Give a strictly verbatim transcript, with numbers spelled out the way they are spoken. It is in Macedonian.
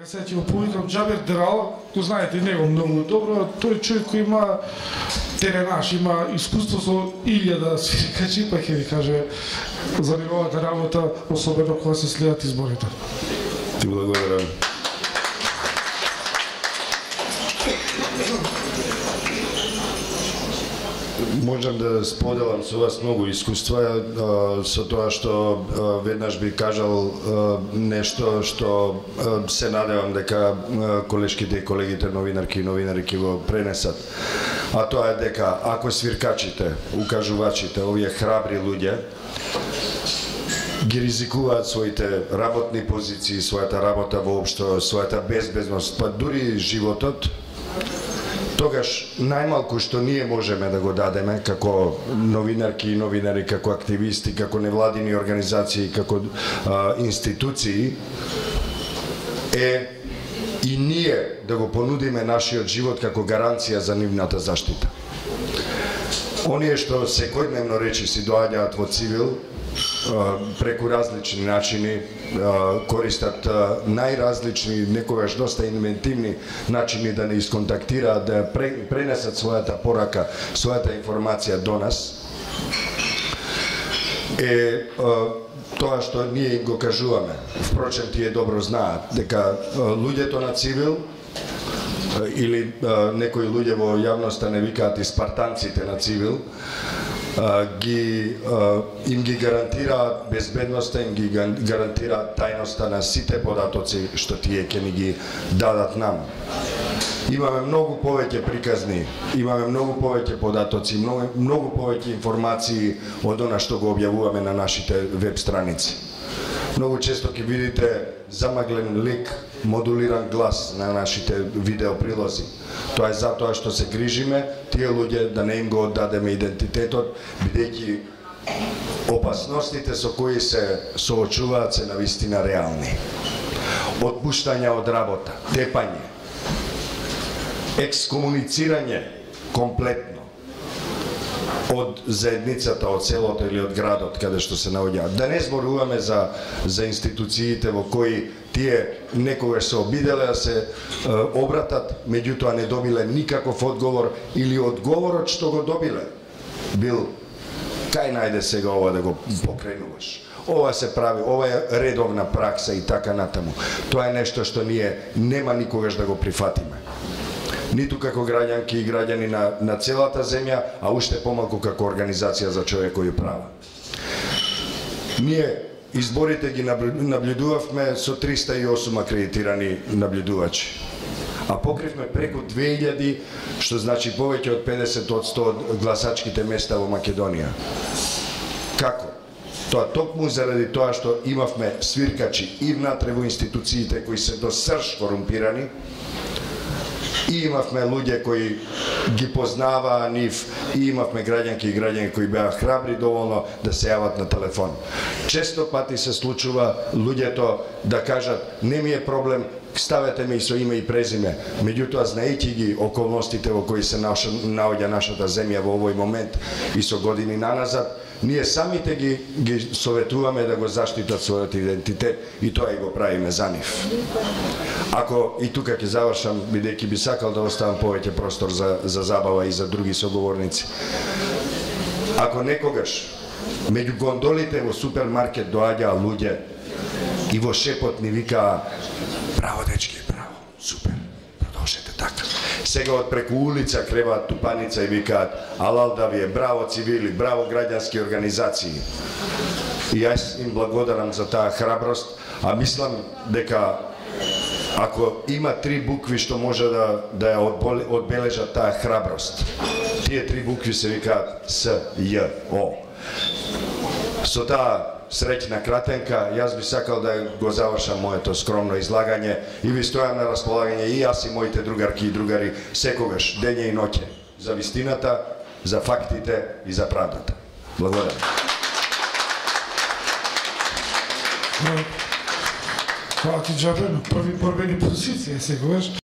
Сега сега ќе го повикам Џабер Драл, го знаете него многу добро, тој човек кој има теренаш, има искуство со илјада свиркачи, па ќе ви каже за неговата работа, особено кога се следат изборите. Ти благодарам. Можам да споделам со вас многу искуства со тоа што веднаш би кажал нешто што се надевам дека колешките и колегите новинарки и новинари ќе го пренесат. А тоа е дека ако свиркачите, укажувачите, овие храбри луѓе ги ризикуваат своите работни позиции, својата работа воопшто, својата безбедност, па дури животот, тогаш најмалку што ние можеме да го дадеме како новинарки и новинари, како активисти, како невладини организации, како а, институции, е и ние да го понудиме нашиот живот како гаранција за нивната заштита. Оние што секојдневно речи си доаѓаат во цивил, преку различни начини, користат најразлични, некогаш доста инвентивни начини да не исконтактираат, да пренесат својата порака, својата информација до нас, е тоа што ние им го кажуваме. Впрочем, тие добро знаат дека луѓето на цивил или некои луѓе во јавноста не викаат и спартанците на цивил, ги им ги гарантираат безбедноста, им ги гарантираат тајноста на сите податоци што тие ќе ни ги дадат нам. Имаме многу повеќе приказни, имаме многу повеќе податоци, многу, многу повеќе информации од она што го објавуваме на нашите веб страници. Многу често ќе видите замаглен лик, модулиран глас на нашите видеоприлози. Тоа е затоа што се грижиме тие луѓе да не им го оддадеме идентитетот, бидејќи опасностите со кои се соочуваат се навистина реални. Отпуштање од работа, тепање, екскомуницирање комплетно од заедницата, од селото или од градот каде што се наоѓаат. Да не зборуваме за за институциите во кои тие некогаш се обиделе да се е, обратат, меѓутоа не добиле никаков одговор или одговорот што го добиле бил кај најде сега ова да го покренуваш. Ова се прави, ова е редовна пракса и така натаму. Тоа е нешто што ние нема никогаш да го прифатиме. Ниту како граѓанки и граѓани на, на целата земја, а уште помалку како организација за човекови права. Ние изборите ги наблюдувавме со триста и осум акредитирани наблюдувачи, а покривме преку две илјади, што значи повеќе од педесет одсто од гласачките места во Македонија. Како? Тоа токму заради тоа што имавме свиркачи и внатре во институциите кои се до срж корумпирани, и имавме луѓе кои ги познаваа нив, и имавме граѓанки и граѓани кои беа храбри доволно да се јават на телефон. Често пати се случува луѓето да кажат не ми е проблем, ставете ме и со име и презиме, меѓутоа знаејќи ги околностите во кои се наоѓа нашата земја во овој момент и со години наназад, ние самите ги, ги советуваме да го заштитат својот идентитет и тоа и го правиме за нив. Ако и тука ќе завршам, бидејќи би сакал да оставам повеќе простор за, за забава и за други соговорници. Ако некогаш меѓу гондолите во супермаркет доаѓаа луѓе и во шепот ни викаа браво дечки, браво, супер, продолжете така. Сега од преку улица креваат тупаница и викаат алал да ви е, браво цивили, браво граѓански организации. И јас им благодарам за таа храброст, а мислам дека ако има три букви што може да, да ја одбележат таа храброст, тие три букви се викаат С, Ј, О. Со таа среќна кратенка, јас би сакал да го завршам моето скромно излагање и ви стојам на располагање и јас и моите другарки и другари секогаш, дење и ноќе, за вистината, за фактите и за правдата. Благодарам. Фала ти, Џабер, на први борбени позиции секогаш.